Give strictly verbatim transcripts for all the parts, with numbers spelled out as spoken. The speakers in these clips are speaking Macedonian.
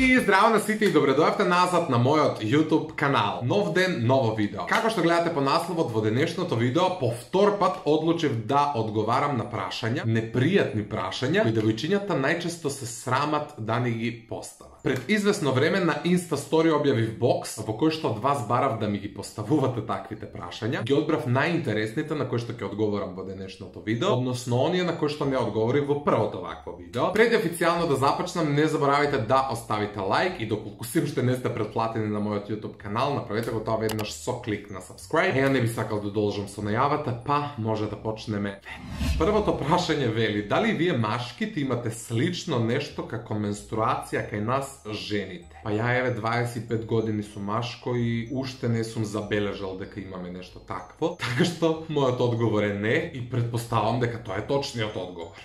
И здраво на сите и добре дојавте назад на мојот YouTube канал. Нов ден, ново видео. Како што гледате по насловот во денешното видео, по втор пат одлучив да одговарам на прашања, непријатни прашања, кои девојчињата најчесто се срамат да ни ги постават. Пред извесно време на Insta Story објавив бокс во кој што од вас барав да ми ги поставувате таквите прашања. Ги одбрав најинтересните на кои што ќе одговорам во денешното видео, односно оние на кои што не одговорив во првото вакво видео. Пред официјално да започнам, не заборавајте да оставите лайк и доколку сим уште не сте претплатени на мојот YouTube канал, направете го тоа веднаш со клик на subscribe. Ја не би сакал да должам со најавата, па може да почнеме веднаш. Првото прашање вели: дали вие машките имате слично нешто како менструација кај нас жените? Па ја еве дваесет и пет години сум машко и уште не сум забележал дека имаме нешто такво, така што мојот одговор е не и претпоставам дека тоа е точниот одговор.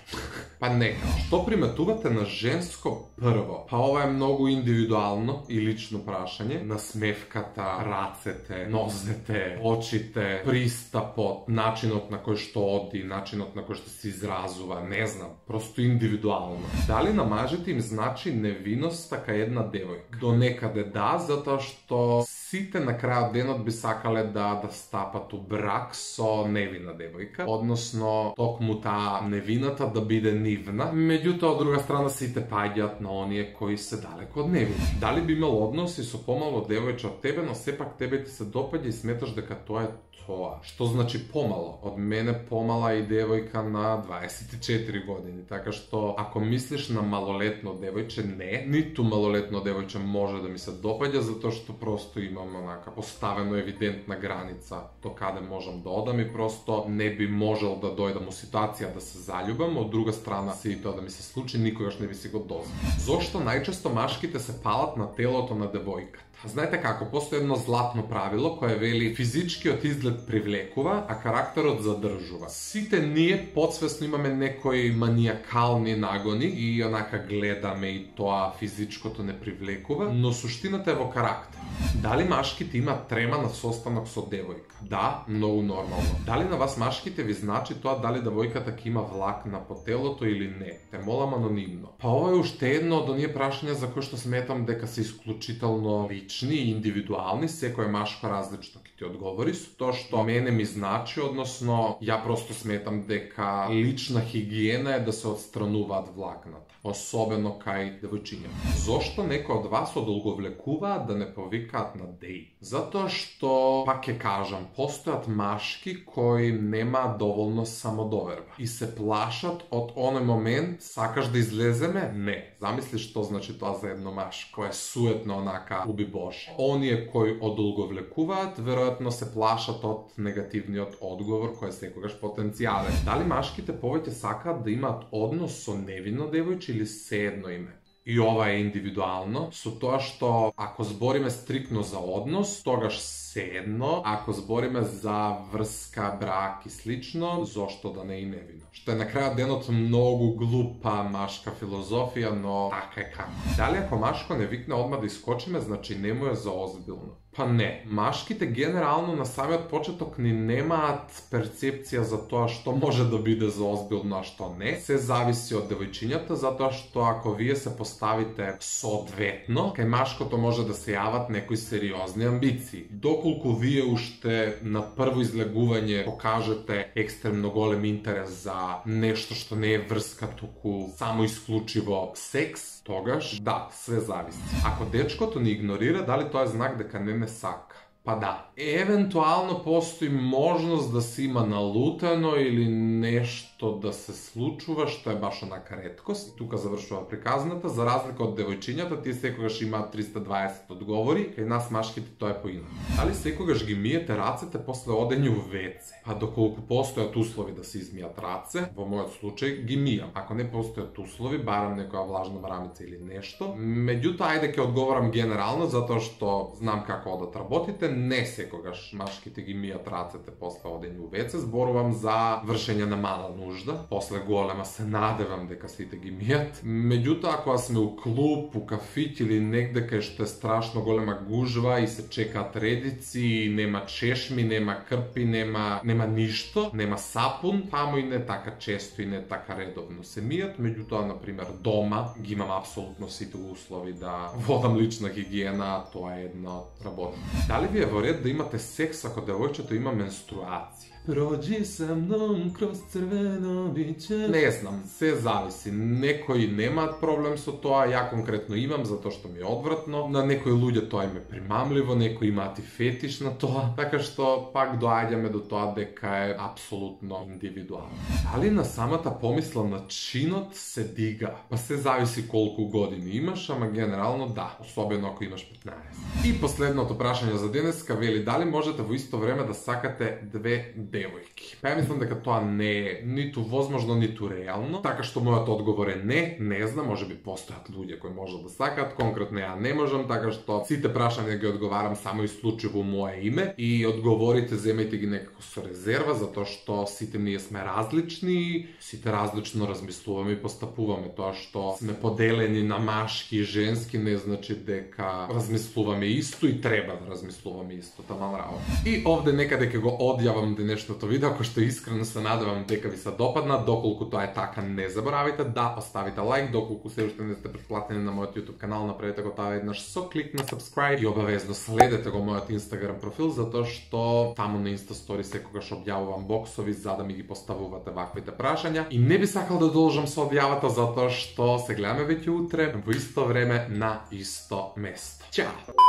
Па нека, што приметувате на женско прво? Па ова е многу индивидуално и лично прашање. Насмевката, рацете, нозете, очите, пристапот, начинот на кој што оди, начинот на кој што се изразува, не знам, просто индивидуално. Дали на мажите им значи невиност така една девојка? До некаде да, затоа што сите на крајот денот би сакале да да стапат у брак со невина девојка, односно токму таа невината да биде нивна. Меѓутоа, од друга страна, сите паѓаат на оние кои се далеко од невини. Дали би имал односи со помало девојче од тебе, но сепак тебе ти се допаѓа и сметаш дека тоа е тоа? Што значи помало? Од мене помала и девојка на дваесет и четири години, така што ако мислиш на малолетно девојче, не, ниту малолетно девојче може да ми се допаѓа, затоа што просто имам онака поставено евидентна граница до каде можам да одам и просто не би можел да дојдам у ситуација да се заљубам. Од друга страна, се и тоа да ми се случи, никогаш не би си го дозволил. Зошто најчесто машките се палат на телото на девојката? Знаете како, постои едно златно правило кое вели: физичкиот изглед привлекува, а карактерот задржува. Сите ние подсвесно имаме некои маниакални нагони и онака гледаме и тоа физичкото не привлекува, но суштината е во карактер. Дали машките имаат трема на состанок со девојка? Да, многу нормално. Дали на вас машките ви значи тоа дали девојката ќе има влакна по телото или не? Те молам анонимно. Па ова е уште едно од оние прашања за кои што сметам дека се исклучително лични и индивидуални, секој машко различно ќе ти одговори, со тоа што мене ми значи, односно ја просто сметам дека лична хигиена е да се отстрануваат влакната, особено кај девојчиња. Зошто некои од вас одолговлекуваат да не повикаат на деј? Затоа што, пак ќе кажам, постојат машки кои немаат доволно самодоверба и се плашат од оној момент: сакаш да излеземе? Не. Замисли што значи тоа за едно машко, е суетно онака уби Боже. Оние кои одолговлекуваат, веројатно се плашат од негативниот одговор кој е секогаш потенцијален. Дали машките повеќе сакаат да имаат однос со невинно девојче или седно име? И ова е индивидуално, со тоа што ако збориме стрикно за однос, тогаш седно, ако збориме за врска, брак и слично, зошто да не и невино? Што е на крајот денот многу глупа машка филозофија, но така е како. Дали ако машко не викне одма да искочиме, значи не му е за озбилно? Па не. Машките генерално на самиот почеток ни немаат перцепција за тоа што може да биде за озбилно, а што не. Се зависи од девојчињата, затоа што ако вие се поставите соодветно, кај машкото може да се јават некои сериозни амбиции. Доколку вие уште на прво излегување покажете екстремно голем интерес за нешто што не е врска, туку само исклучиво секс, тогаш да, све зависи. Ако дечкото ни игнорира, дали тоа е знак дека не ме сака? Па да. Евентуално постои можност да се има налутено или нешто да се случува, што е баш онака реткост. И тука завршува приказната. За разлика од девојчињата, тие секогаш имаат триста дваесет одговори, кај нас машките тоа е поинаку. Дали секогаш ги миете рацете после одење у вец? Па доколку постојат услови да се измијат раце, во мојот случај ги мијам. Ако не постојат услови, барам некоја влажна мрамица или нешто. Меѓутоа, ајде ќе одговорам генерално, затоа што знам како одат работите. не секогаш машките ги мијат рацете после одење у вец, зборувам за вршење на мала нужда, после голема се надевам дека сите ги мијат. Меѓутоа, ако сме у клуб, у кафиќ или негде кај што е страшно голема гужва и се чекаат редици, нема чешми, нема крпи, нема нема ништо, нема сапун, таму и не така често и не така редовно се мијат. Меѓутоа, на пример, дома ги имам апсолутно сите услови да водам лична хигиена, тоа е една од работа. Дали ви е во ред да имате секс ако девојчето има менструација? Проđi sa mnom kroz crveno biće. Не знам, се зависи. Некои немаат проблем со тоа, ја конкретно имам затоа што ми е одвратно. На некои луѓе тоа им е примамливо, некои имаат и фетиш на тоа, така што пак доаѓаме до тоа дека е апсолутно индивидуално. Дали на самата помисла на чинот се дига? Па се зависи колку години имаш, ама генерално да, особено ако имаш петнаесет. И последното прашање за денеска вели дали можете во исто време да сакате две девојки. Па ја мислам дека тоа не е ниту возможно, ниту реално, така што мојот одговор е не, не знам, можеби постојат луѓе кои можат да сакаат, конкретно ја не можам, така што сите прашања ги одговарам само исклучиво мое име и одговорите земајте ги некако со резерва, затоа што сите ние сме различни, сите различно размислуваме и постапуваме. Тоа што сме поделени на машки и женски не значи дека размислуваме исто и треба да размислуваме исто, таман работа. И овде некаде ќе го одјавам денешното видео, кој што искрено се надевам дека ви се допадна. Доколку тоа е така, не заборавајте да оставите лайк, доколку се уште не сте претплатени на мојот YouTube канал, направете го тоа еднаш со клик на subscribe и обавезно следете го мојот Instagram профил, затоа што таму на Insta Story секогаш објавувам боксови за да ми ги поставувате ваквите прашања. И не би сакал да должам со објавата затоа што се гледаме веќе утре во исто време на исто место. Чао!